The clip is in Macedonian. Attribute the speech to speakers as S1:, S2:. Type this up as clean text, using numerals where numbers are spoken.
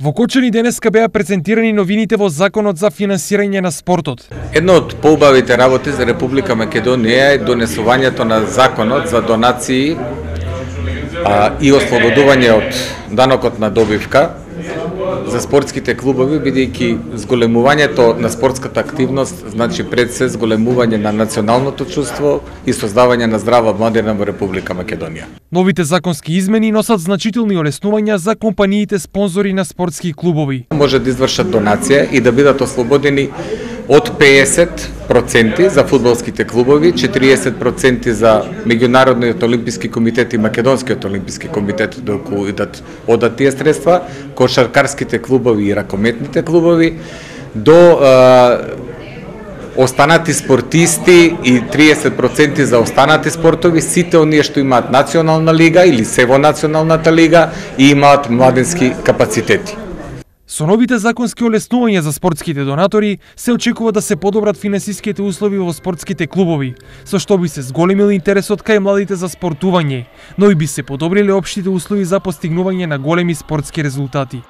S1: Во Кочани денеска беа презентирани новините во Законот за финансирање на спортот.
S2: Една од поубавите работи за Република Македонија е донесувањето на Законот за донации и ослободување од данокот на добивка за спортските клубови, бидејќи зголемувањето на спортската активност значи пред се зголемување на националното чувство и создавање на здрава младина во Република Македонија.
S1: Новите законски измени носат значителни олеснувања за компаниите спонзори на спортски клубови.
S2: Може да извршат донација и да бидат ослободени од 50% за фудбалските клубови, 40% за Меѓународниот олимписки комитет и Македонскиот олимписки комитет доколку одат тие средства, кошаркарските клубови и ракометните клубови, до останати спортисти и 30% за останати спортови, сите оние што имаат национална лига или се во националната лига и имаат младенски капацитети.
S1: Со новите законски олеснувања за спортските донатори се очекува да се подобрат финансиските услови во спортските клубови, со што би се зголемил интересот кај младите за спортување, но и би се подобриле општите услови за постигнување на големи спортски резултати.